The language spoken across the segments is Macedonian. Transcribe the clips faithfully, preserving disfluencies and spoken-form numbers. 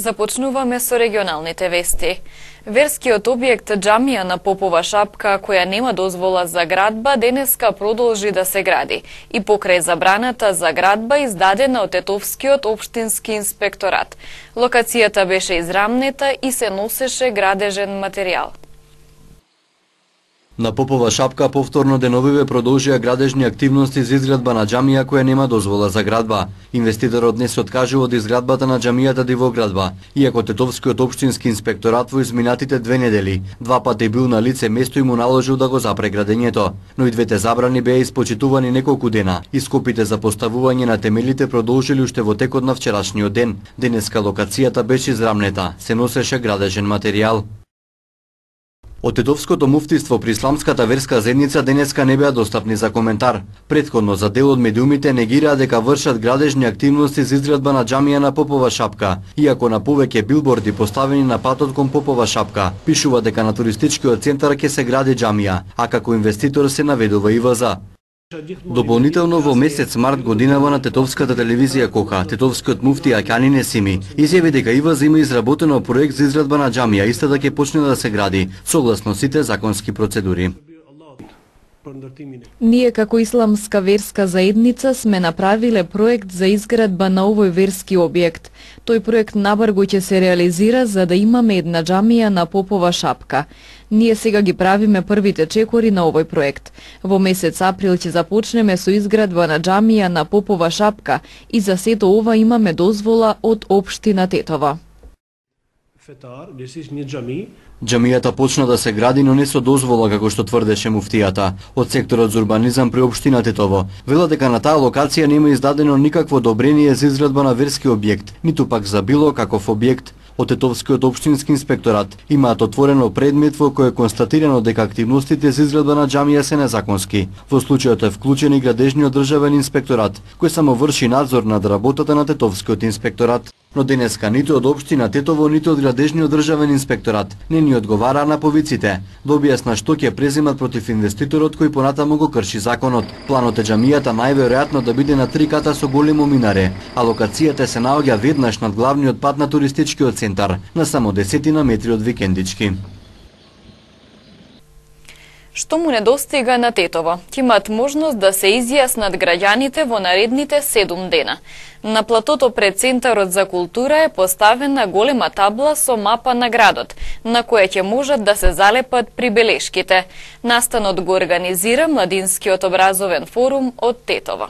Започнуваме со регионалните вести. Верскиот објект џамија на Попова шапка, која нема дозвола за градба, денеска продолжи да се гради и покрај забраната за градба издадена од Тетовскиот општински инспекторат. Локацијата беше израмнета и се носеше градежен материјал. На Попова шапка повторно деновиве продолжија градежни активности за изградба на џамија која нема дозвола за градба. Инвеститорот не се откажува од изградбата на џамијата Дивоградба, иако Тетовскиот општински инспекторат во изминатите две недели два пати бил на лице место и му наложил да го запре градењето. Но и двете забрани беа испочитувани неколку дена и скопите за поставување на темелите продолжили уште во текот на вчерашниот ден. Денеска локацијата беше израмнета, се носеше градежен материјал. Од Тетовското муфтиство при исламската верска заедница денеска не беа достапни за коментар. Претходно за дел од медиумите негираа дека вршат градежни активности за изградба на џамија на Попова шапка, иако на повеќе билборди поставени на патот кон Попова шапка пишува дека на туристичкиот центар ќе се гради џамија, а како инвеститор се наведува и ИВЗ. Дополнително во месец март годинава на Тетовската телевизија Кока, тетовскиот муфти Акјани Несими изјави дека ИВЗ има изработено проект за изградба на џамија, истата ќе почне да се гради согласно сите законски процедури. Ние како исламска верска заедница сме направиле проект за изградба на овој верски објект. Тој проект набрзо ќе се реализира за да имаме една џамија на Попова шапка. Ние сега ги правиме првите чекори на овој проект. Во месец април ќе започнеме со изградба на џамија на Попова шапка и за сето ова имаме дозвола од општина Тетово. Џамијата почна да се гради, но не со дозвола, како што тврдеше муфтијата. Од секторот за урбанизам при општина Тетово вела дека на таа локација нема издадено никакво одобрение за изградба на верски објект, ниту пак за било каков објект. Од Тетовскиот општински инспекторат имаат отворено предмет во кој е констатирано дека активностите за изградба на џамија се незаконски. Во случајот е вклучен и градежниот државен инспекторат, кој само врши надзор над работата на Тетовскиот инспекторат. Но денеска ниту од општина Тетово, ниту од градежниот државен инспекторат не ни одговараа на повиците. Да објасна што ќе преземат против инвеститорот кој понатаму го крши законот. Планот е џамијата најверојатно да биде на три ката со големо минаре, а локацијата се наоѓа веднаш над главниот пат на туристичкиот центар, на само десетина метри од викендички. Што му недостига на Тетово? Ќе имаат можност да се изјаснат граѓаните во наредните седум дена. На платото пред Центарот за култура е поставена голема табла со мапа на градот, на која ќе можат да се залепат прибелешките. Настанот го организира Младинскиот образовен форум од Тетово.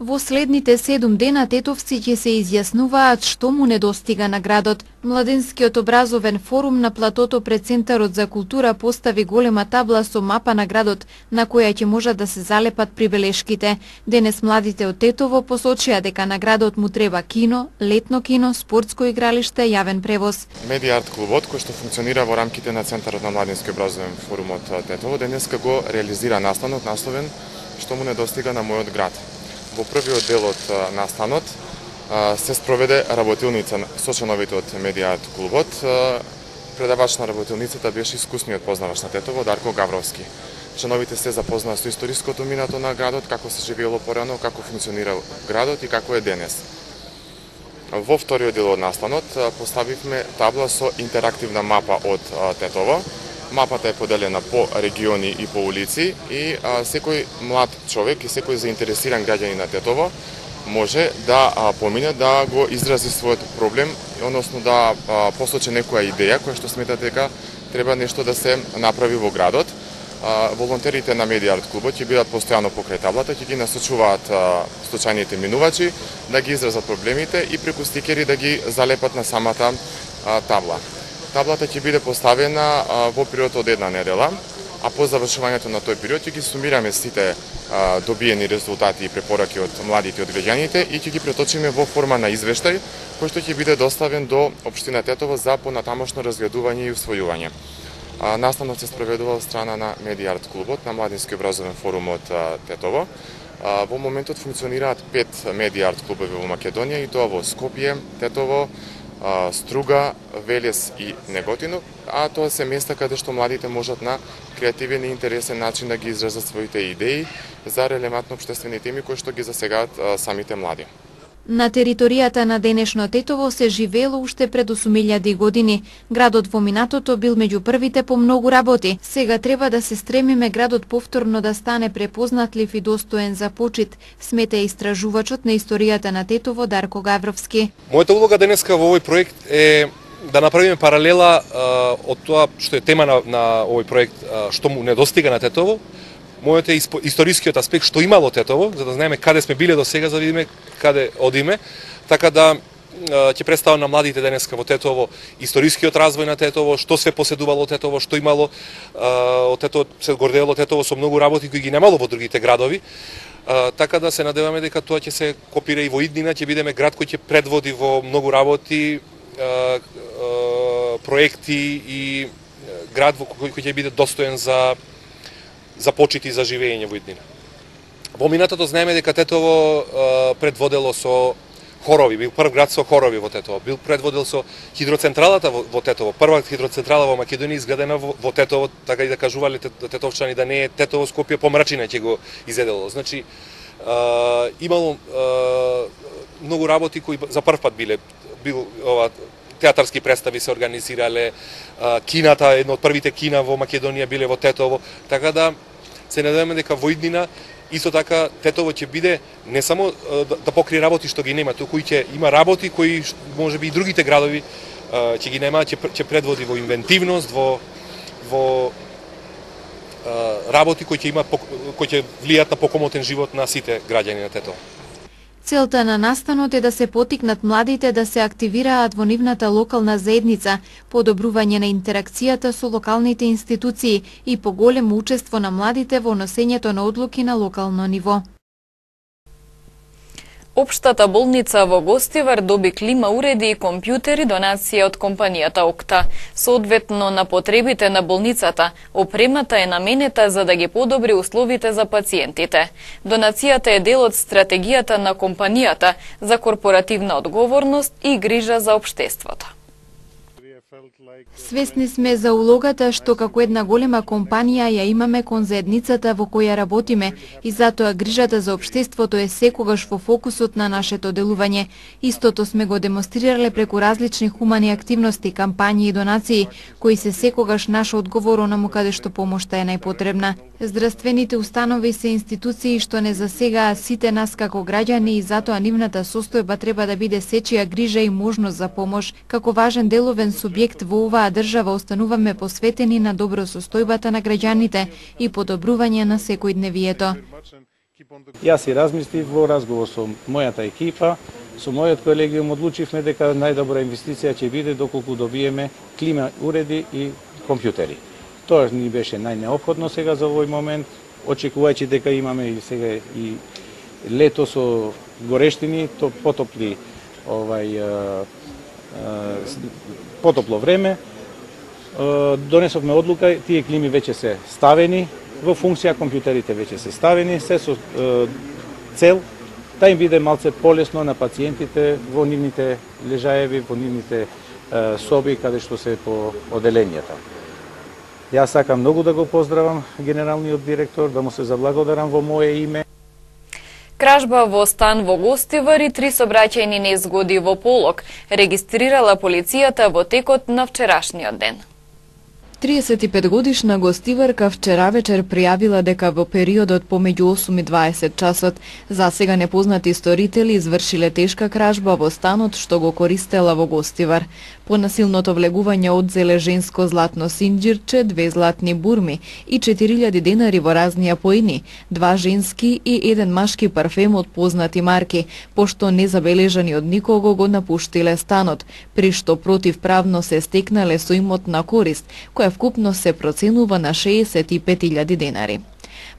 Во следните седум дена тетовци ќе се изјаснуваат што му недостига на градот. Младенскиот образовен форум на платото пред Центарот за култура постави голема табла со мапа на градот, на која ќе можат да се залепат прибелешките. Денес младите од Тетово посочија дека на градот му треба кино, летно кино, спортско игралиште, јавен превоз. Медиа арт клубот, кој што функционира во рамките на Центарот на Младенскиот образовен форум од Тетово, денеска го реализира настанот насловен "Што му недостига на мојот град". Во првиот дел од настанот се спроведе работилница со членовите од Медиа арт клубот. Предавач на работилницата беше искусниот познавач на Тетово Дарко Гавровски. Членовите се запознаа со историското минато на градот, како се живеело порано, како функционирал градот и како е денес. Во вториот дел од настанот поставивме табла со интерактивна мапа од Тетово. Мапата е поделена по региони и по улици и а, секој млад човек и секој заинтересиран граѓанин на Тетово може да а, помине да го изрази својот проблем, односно да а, посочи некоја идеја која што смета дека треба нешто да се направи во градот. А, волонтерите на Медиа арт клубот ќе бидат постојано покрај таблата, ќе ги насочуваат а, случајните минувачи да ги изразат проблемите и преку стикери да ги залепат на самата а, табла. Таблата ќе биде поставена а, во период од една недела, а по завршувањето на тој период ќе ги сумираме сите а, добиени резултати и препораки од младите и од граѓаните и ќе ги преточиме во форма на извештај, кој што ќе биде доставен до општина Тетово за понатамошно разгледување и усвојување. А, настанот се спроведува од страна на Медиа арт клубот на Младински образовен форум од а, Тетово. А, во моментот функционираат пет Медиа арт клубови во Македонија и тоа во Скопје, Тетово, Струга, Велес и Неготино, а тоа се места каде што младите можат на креативен и интересен начин да ги изразат своите идеи за релевантни општествени теми кои што ги засегаат самите млади. На територијата на денешно Тетово се живеело уште пред осум илјади години. Градот во минатото бил меѓу првите по многу работи. Сега треба да се стремиме градот повторно да стане препознатлив и достоен за почит, смета истражувачот на историјата на Тетово Дарко Гавровски. Мојата улога денеска во овој проект е да направиме паралела а, од тоа што е тема на, на овој проект, а, што му недостига на Тетово. Мојот е историскиот аспект што имало Тетово, за да знаеме каде сме биле до сега, за да видиме каде одиме, така да ќе представам на младите денеска во Тетово историскиот развој на Тетово, што се поседувало Тетово, што имало од Тетово, се гордело Тетово со многу работи кои ги немало во другите градови. Така да се надеваме дека тоа ќе се копира и во иднина, ќе бидеме град кој ќе предводи во многу работи, проекти и град кој ќе биде достоен за за почит и за живење во иднина. Во минатото знаеме дека Тетово а, предводело со хорови, бил прв град со хорови во Тетово, бил предводел со хидроцентралата во, во Тетово, прва хидроцентрала во Македонија изградена во, во Тетово, така и да кажувале тетовчани да не е Тетово Скопје, помрачина ќе го изедело. Значи, а, имало а, многу работи кои за прв пат биле, бил ова театарски представи се организирале, а, кината, едно од првите кина во Македонија биле во Тетово, така да се надеваме дека во иднина исто така Тетово ќе биде не само да, да покрие работи што ги нема, туку и ќе има работи кои можеби и другите градови а, ќе ги нема, ќе, ќе предводи во инвентивност, во во а, работи кои ќе има кои ќе влијат на покомотен живот на сите граѓани на Тетово. Целта на настанот е да се потикнат младите да се активираат во нивната локална заедница, подобрување на интеракцијата со локалните институции и поголемо учество на младите во носењето на одлуки на локално ниво. Општата болница во Гостивар доби клима уреди и компјутери донација од компанијата Окта. Соодветно на потребите на болницата, опремата е наменета за да ги подобри условите за пациентите. Донацијата е дел од стратегијата на компанијата за корпоративна одговорност и грижа за општеството. Свесни сме за улогата што како една голема компанија ја имаме кон заедницата во која работиме и затоа грижата за општеството е секогаш во фокусот на нашето делување. Истото сме го демонстрирале преку различни хумани активности, кампањи и донации, кои се секогаш наш одговор онаму каде што помошта е најпотребна. Здравствените установи се институции што не засегаа сите нас како граѓани и затоа нивната состојба треба да биде сечија грижа и можност за помош. Како важен деловен субјект во оваа држава остануваме посветени на добро состојбата на граѓаните и подобрување на секојдневието. Јас и размислив во разговор со мојата екипа, со мојот колегиум одлучивме дека најдобра инвестиција ќе биде доколку добиеме клима уреди и компјутери. Тоа ни беше најнеопходно сега за овој момент, очекувајќи дека имаме и сега и лето со горештини, то потопли овај потопло време, донесовме одлука, тие клими веќе се ставени во функција, компјутерите веќе се ставени, се со цел да им биде малце полесно на пациентите во нивните лежаеви, во нивните соби каде што се по оделенијата. Јас сакам многу да го поздравам генералниот директор, да му се заблагодарам во мое име. Кражба во стан во Гостивар и три сообраќајни незгоди во Полог регистрирала полицијата во текот на вчерашниот ден. триесет и пет годишна гостиварка вчера вечер пријавила дека во периодот помеѓу осум и дваесет часот засега непознати сторители извршиле тешка кражба во станот што го користела во Гостивар. По насилното влегување одзеле женско златно синџирче, две златни бурми и четири илјади денари во разни апоини, два женски и еден машки парфем од познати марки, пошто незабележани од никого го напуштиле станот, при што противправно се стекнале со имот на корист, која вкупно се проценува на шеесет и пет илјади денари.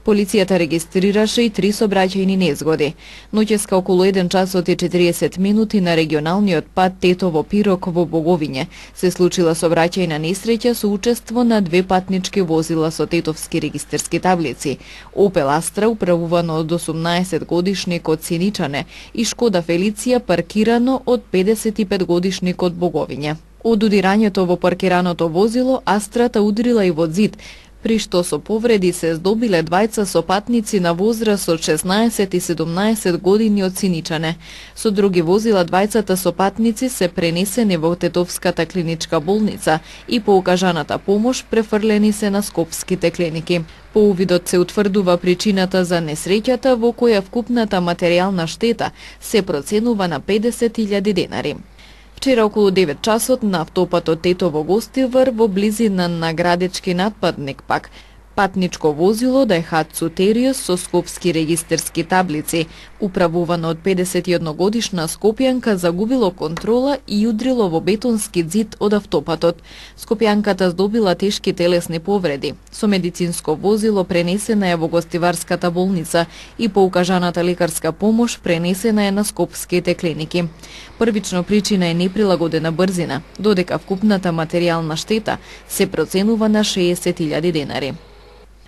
Полицијата регистрираше и три сообраќајни незгоди. Ноќеска околу еден часот и четириесет минути на регионалниот пат Тетово-Пирок во Боговиње се случила сообраќајна несреќа со учество на две патнички возила со тетовски регистерски таблици: Опел Астра управувано од осумнаесет годишник од Синичане и Шкода Фелиција паркирано од педесет и пет годишник од Боговиње. Од удирањето во паркираното возило Астрата удрила и во зид, при што со повреди се здобиле двајца сопатници на возраст од шеснаесет и седумнаесет години од Синичане. Со други возила двајцата сопатници се пренесени во Тетовската клиничка болница и по укажаната помош префрлени се на скопските клиники. По увидот се утврдува причината за несреќата, во која вкупната материјална штета се проценува на педесет илјади денари. Вчера околу девет часот на автопатот Тетово-Гостивар во близина на Градечки надпадник пак патничко возило Дајхатсу Териус со скопски регистерски таблици, управувано од педесет и една годишна скопјанка, загубило контрола и удрило во бетонски ѕид од автопатот. Скопјанката здобила тешки телесни повреди. Со медицинско возило пренесена е во Гостиварската болница и по укажаната лекарска помош пренесена е на скопските клиники. Првично причина е неприлагодена брзина, додека вкупната материјална штета се проценува на шеесет илјади денари.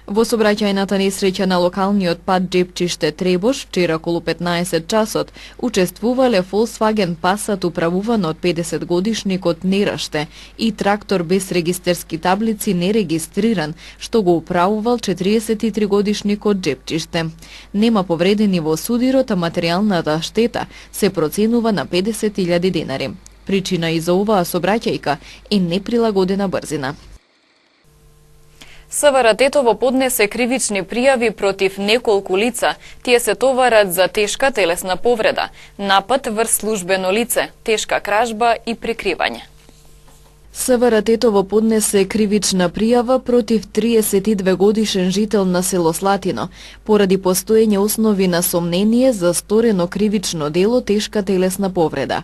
Во сообраќајната несреќа на локалниот пат Джепчиште Требош вчера околу петнаесет часот учествувале Volkswagen Passat управуван од педесет годишникот Нераште и трактор без регистерски таблици нерегистриран, што го управувал четириесет и три годишникот Джепчиште. Нема повредени во судирот, а материјалната штета се проценува на педесет илјади денари. Причина и за оваа сообраќајка е неприлагодена брзина. СВР Тетово поднесе кривични пријави против неколку лица. Тие се товарат за тешка телесна повреда, напад врз службено лице, тешка кражба и прикривање. СВР Тетово поднесе кривична пријава против триесет и две годишен жител на село Слатино, поради постоење основи на сомнение за сторено кривично дело тешка телесна повреда.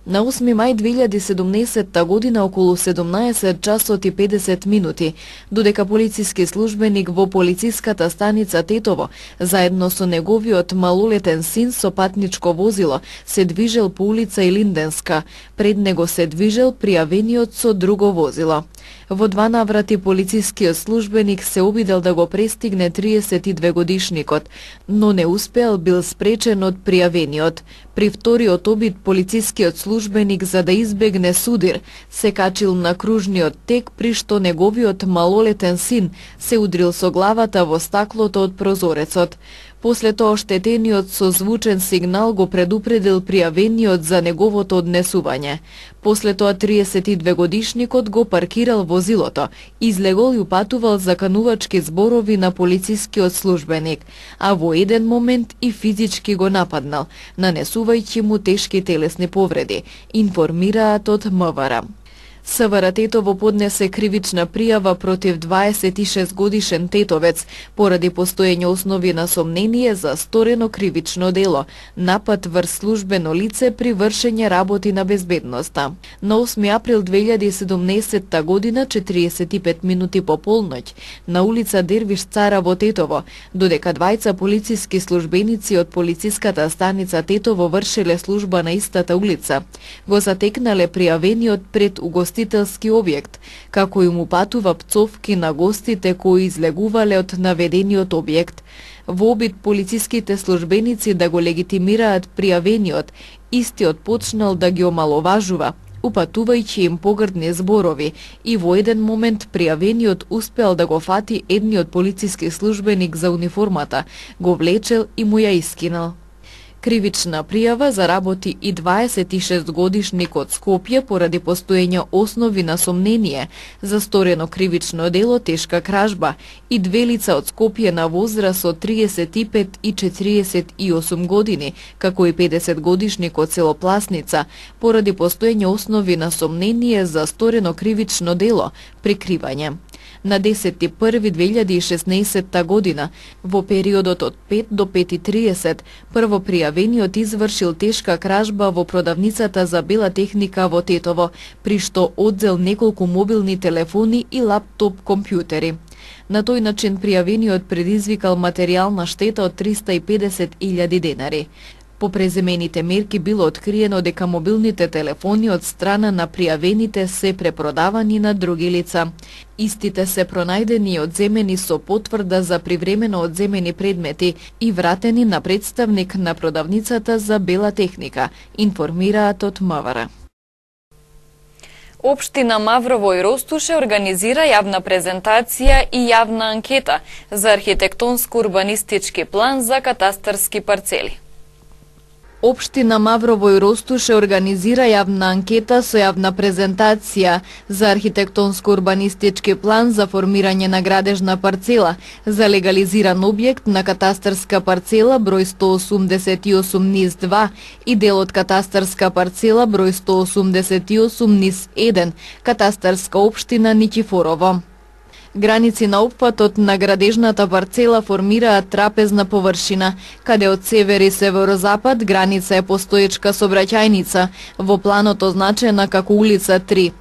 На осми мај две илјади и седумнаесетта година околу седумнаесет часот и педесет минути, додека полициски службеник во полициската станица Тетово, заедно со неговиот малолетен син со патничко возило, се движел по улица Илинденска. Пред него се движел пријавениот со друго возило. Во два наврати полицискиот службеник се обидел да го престигне триесет и две годишникот, но не успеал, бил спречен од пријавениот. При вториот обид полицискиот службеник, за да избегне судир, се качил на кружниот тек, при што неговиот малолетен син се удрил со главата во стаклото од прозорецот. После тоа оштетениот со звучен сигнал го предупредил пријавениот за неговото однесување. После тоа триесет и две годишникот го паркирал возилото, излегол и упатувал заканувачки зборови на полицискиот службеник, а во еден момент и физички го нападнал, нанесувајќи му тешки телесни повреди, информираат од МВР. СВР Тетово поднесе кривична пријава против дваесет и шест годишен тетовец поради постоење основи на сомнение за сторено кривично дело, напад врз службено лице при вршење работи на безбедноста. На осми април две илјади и седумнаесетта година, четириесет и пет минути по полноќ, на улица Дервиш Цара во Тетово, додека двајца полициски службеници од полициската станица Тетово вршеле служба на истата улица, го затекнале пријавениот пред угостителски објект, како им упатува пцовки на гостите кои излегувале од наведениот објект. Во обид полициските службеници да го легитимираат пријавениот, истиот почнал да ги омаловажува, упатувајќи им погрдни зборови, и во еден момент пријавениот успеал да го фати едниот полициски службеник за униформата, го влечел и му ја искинал. Кривична пријава заработи и дваесет и шест годишник од Скопје поради постоење основи на сомнение за сторено кривично дело тешка кражба и две лица од Скопје на возраст од триесет и пет и четириесет и осум години, како и педесет годишник од село Пласница, поради постоење основи на сомнение за сторено кривично дело прикривање. На десети први две илјади и шеснаесетта година, во периодот од пет до пет и триесет, прво пријавениот извршил тешка кражба во продавницата за бела техника во Тетово, при што одзел неколку мобилни телефони и лаптоп компјутери. На тој начин пријавениот предизвикал материјална штета од триста и педесет илјади денари. По преземените мерки било откриено дека мобилните телефони од страна на пријавените се препродавани на други лица. Истите се пронајдени и одземени со потврда за привремено одземени предмети и вратени на представник на продавницата за бела техника, информираат од МВР. Општина Маврово и Ростуше организира јавна презентација и јавна анкета за архитектонско-урбанистички план за катастарски парцели. Општина Маврово и Ростуше организира јавна анкета со јавна презентација за архитектонско-урбанистички план за формирање на градежна парцела за легализиран објект на катастарска парцела број сто осумдесет и осум низ два и дел од катастарска парцела број сто осумдесет и осум низ еден, катастарска општина Никифорово. Граници на опфатот на градежната парцела формираат трапезна површина, каде од север и северозапад граница е постоечка сообраќајница, во планот означена како улица три.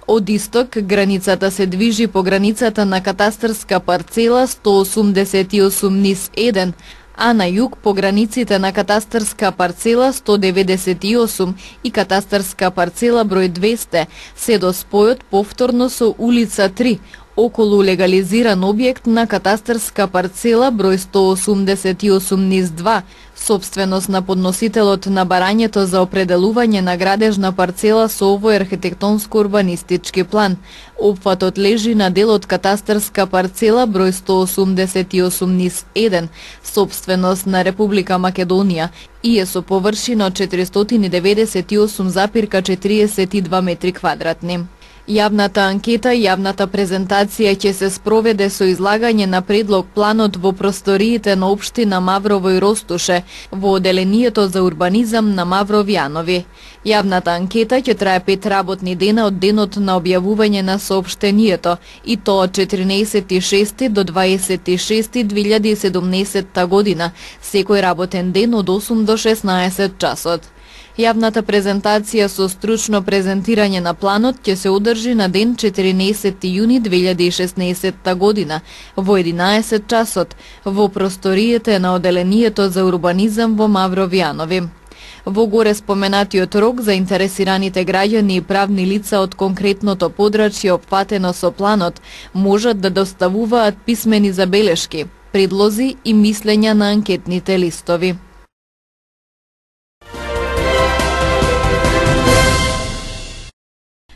Од исток, границата се движи по границата на катастарска парцела сто осумдесет и осум низ еден, а на југ по границите на катастарска парцела сто деветдесет и осум и катастарска парцела број двесте, се до спојот повторно со улица три, околу легализиран објект на катастарска парцела број сто осумдесет и осум низ два, собственост на подносителот на барањето за определување на градежна парцела со овој архитектонско-урбанистички план. Опфатот лежи на дел од катастарска парцела број сто осумдесет и осум низ еден, собственост на Република Македонија и е со површина од четиристотини деветдесет и осум запирка четириесет и два метри квадратни. Јавната анкета и јавната презентација ќе се спроведе со излагање на предлог планот во просториите на општина Маврово и Ростуше во оделението за урбанизам на Мавровјанови. Јавната анкета ќе трае пет работни дена од денот на објавување на соопштението и тоа од четрнаесети шести до дваесети шести две илјади и седумнаесетта година, секој работен ден од осум до шеснаесет часот. Јавната презентација со стручно презентирање на планот ќе се одржи на ден четрнаесети јуни две илјади и шеснаесетта година во единаесет часот во просториите на оделението за урбанизам во Мавровјанови. Во горе споменатиот рок заинтересираните граѓани и правни лица од конкретното подрачје опфатено со планот можат да доставуваат писмени забелешки, предлози и мислења на анкетните листови.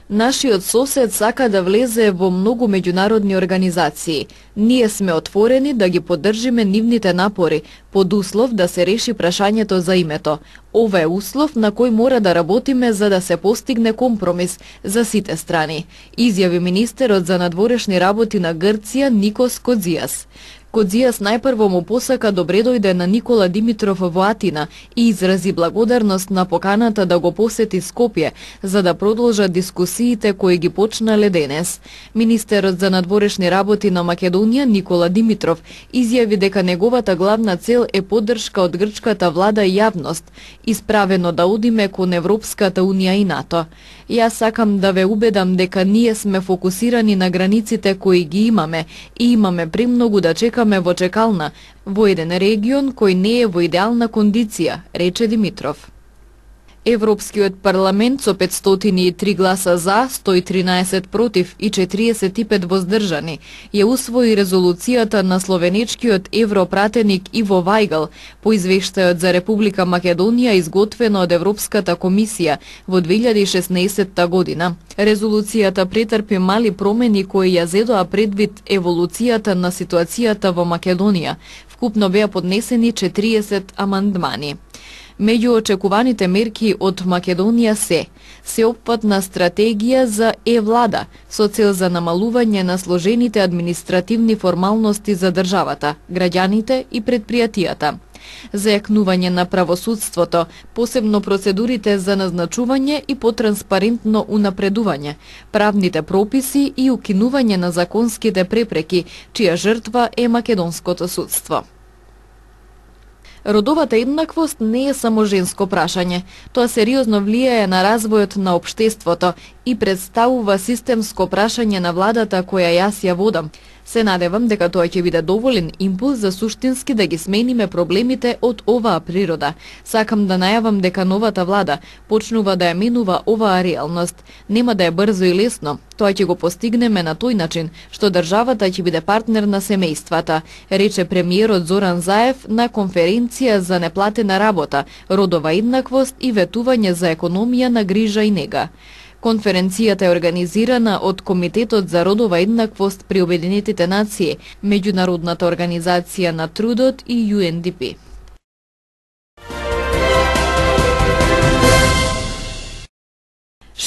Нашиот сосед сака да влезе во многу меѓународни организации. Ние сме отворени да ги поддржиме нивните напори, под услов да се реши прашањето за името. Ова е услов на кој мора да работиме за да се постигне компромис за сите страни, изјави министерот за надворешни работи на Грција Никос Кодзијас. Кодзијас најпрво му посака добре дојде на Никола Димитров во Атина и изрази благодарност на поканата да го посети Скопје, за да продолжат дискусиите кои ги почнале денес. Министерот за надворешни работи на Македонија Никола Димитров изјави дека неговата главна цел е поддршка од грчката влада и јавност, исправено да одиме кон Европската унија и НАТО. Јас сакам да ве убедам дека ние сме фокусирани на границите кои ги имаме и имаме премногу да чекаме во чекална, во еден регион кој не е во идеална кондиција, рече Димитров. Европскиот парламент со петстотини и три гласа за, сто и тринаесет против и четириесет и пет воздржани ја усвои резолуцијата на словенечкиот европратеник Иво Вајгал по извештајот за Република Македонија изготвено од Европската комисија во две илјади и шеснаесетта година. Резолуцијата претрпи мали промени кои ја зедоа предвид еволуцијата на ситуацијата во Македонија. Вкупно беа поднесени четириесет амандмани. Меѓу очекуваните мерки од Македонија се сеопфатна стратегија за е-влада со цел за намалување на сложените административни формалности за државата, граѓаните и предпријатијата, зајакнување на правосудството, посебно процедурите за назначување и потранспарентно унапредување, правните прописи и укинување на законските препреки, чија жртва е македонското судство. Родовата еднаквост не е само женско прашање, тоа сериозно влијае на развојот на општеството и представува системско прашање на владата која јас ја водам. Се надевам дека тоа ќе биде доволен импулс за суштински да ги смениме проблемите од оваа природа. Сакам да најавам дека новата влада почнува да ја менува оваа реалност. Нема да е брзо и лесно. Тоа ќе го постигнеме на тој начин што државата ќе биде партнер на семејствата, рече премиерот Зоран Заев на конференција за неплатена работа, родова еднаквост и ветување за економија на грижа и нега. Конференцијата е организирана од Комитетот за родова еднаквост при Обединетите нации, Меѓународната организација на трудот и Ю Ен Ди Пи.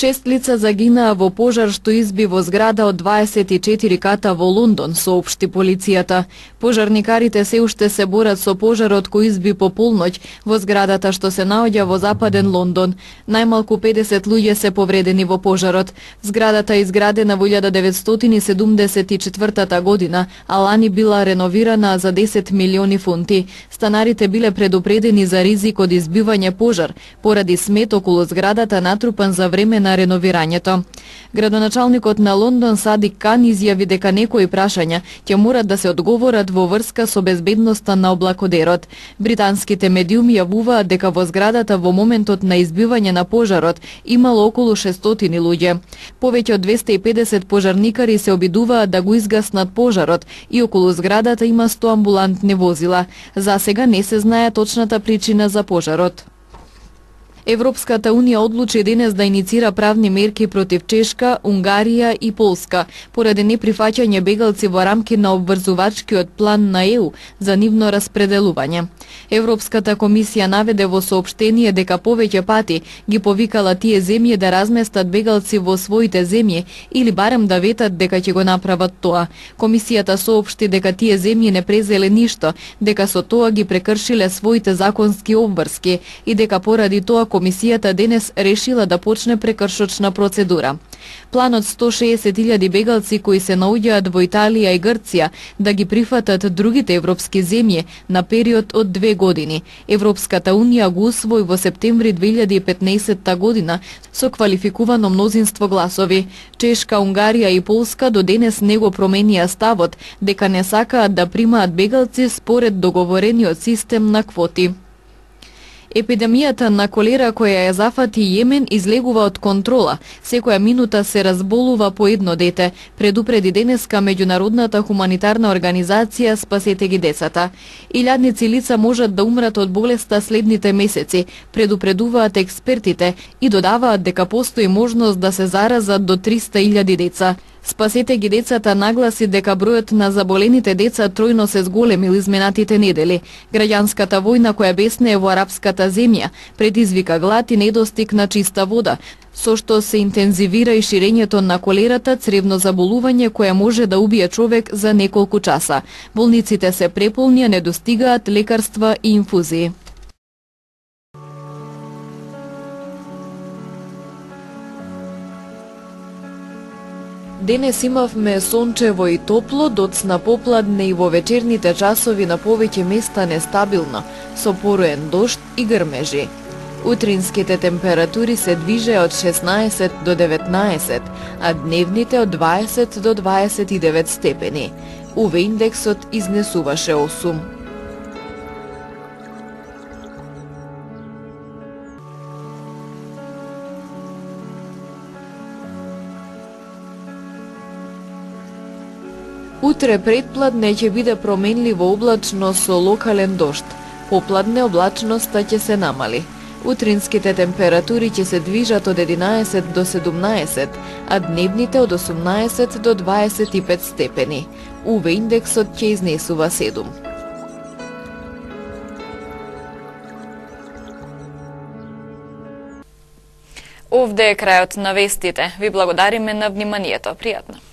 Шест лица загинаа во пожар што изби во зграда од дваесет и четири ката во Лондон, соопшти полицијата. Пожарникарите се уште се борат со пожарот кој изби по полноќ во зградата што се наоѓа во западен Лондон. Најмалку педесет луѓе се повредени во пожарот. Зградата е изградена во илјада деветстотини седумдесет и четвртата година, а лани била реновирана за десет милиони фунти. Станарите биле предупредени за ризик од избивање пожар поради смет околу зградата натрупан за време на реновирањето. Градоначалникот на Лондон Садик Кан изјави дека некои прашања ќе морат да се одговорат во врска со безбедноста на облакодерот. Британските медиуми јавуваат дека во зградата во моментот на избивање на пожарот имало околу шестстотини луѓе. Повеќе од двесте и педесет пожарникари се обидуваат да го изгаснат пожарот и околу зградата има сто амбулантни возила. За сега не се знае точната причина за пожарот. Европската Унија одлучи денес да иницира правни мерки против Чешка, Унгарија и Полска поради неприфаќање бегалци во рамки на обврзувачкиот план на Е У за нивно распределување. Европската комисија наведе во соопштение дека повеќе пати ги повикала тие земји да разместат бегалци во своите земји или барем да ветат дека ќе го направат тоа. Комисијата соопшти дека тие земји не презеле ништо, дека со тоа ги прекршиле своите законски обврски и дека поради тоа комисијата денес решила да почне прекршочна процедура. Планот сто шеесет илјади бегалци кои се наоѓаат во Италија и Грција да ги прифатат другите европски земји на период од две години. Европската Унија го усвои во септември две илјади и петнаесетта година со квалификувано мнозинство гласови. Чешка, Унгарија и Полска до денес не го променија ставот дека не сакаат да примаат бегалци според договорениот систем на квоти. Епидемијата на колера која ја зафати Јемен излегува од контрола. Секоја минута се разболува по едно дете, предупреди денеска меѓународната хуманитарна организација Спасете ги децата. Илјадници лица можат да умрат од болеста следните месеци, предупредуваат експертите и додаваат дека постои можност да се заразат до триста илјади деца. Спасете ги децата нагласи дека бројот на заболените деца тројно се зголемил изминатите недели. Граѓанската војна која беснее во арапската земја предизвика глад и недостиг на чиста вода, со што се интензивира и ширењето на колерата, цревно заболување кое може да убие човек за неколку часа. Болниците се преполни, не достигаат лекарства и инфузии. Денес имавме сончево и топло, доцна попладне и во вечерните часови на повеќе места нестабилно, со пороен дожд и грмежи. Утринските температури се движеа од шеснаесет до деветнаесет, а дневните од дваесет до дваесет и девет степени. У В индексот изнесуваше осум. Утре предпладне ќе биде променливо облачно со локален дожд. Попладне облачноста ќе се намали. Утринските температури ќе се движат од единаесет до седумнаесет, а дневните од осумнаесет до дваесет и пет степени. У В индексот ќе изнесува седум. Овде е крајот на вестите. Ви благодариме на вниманието. Пријатно.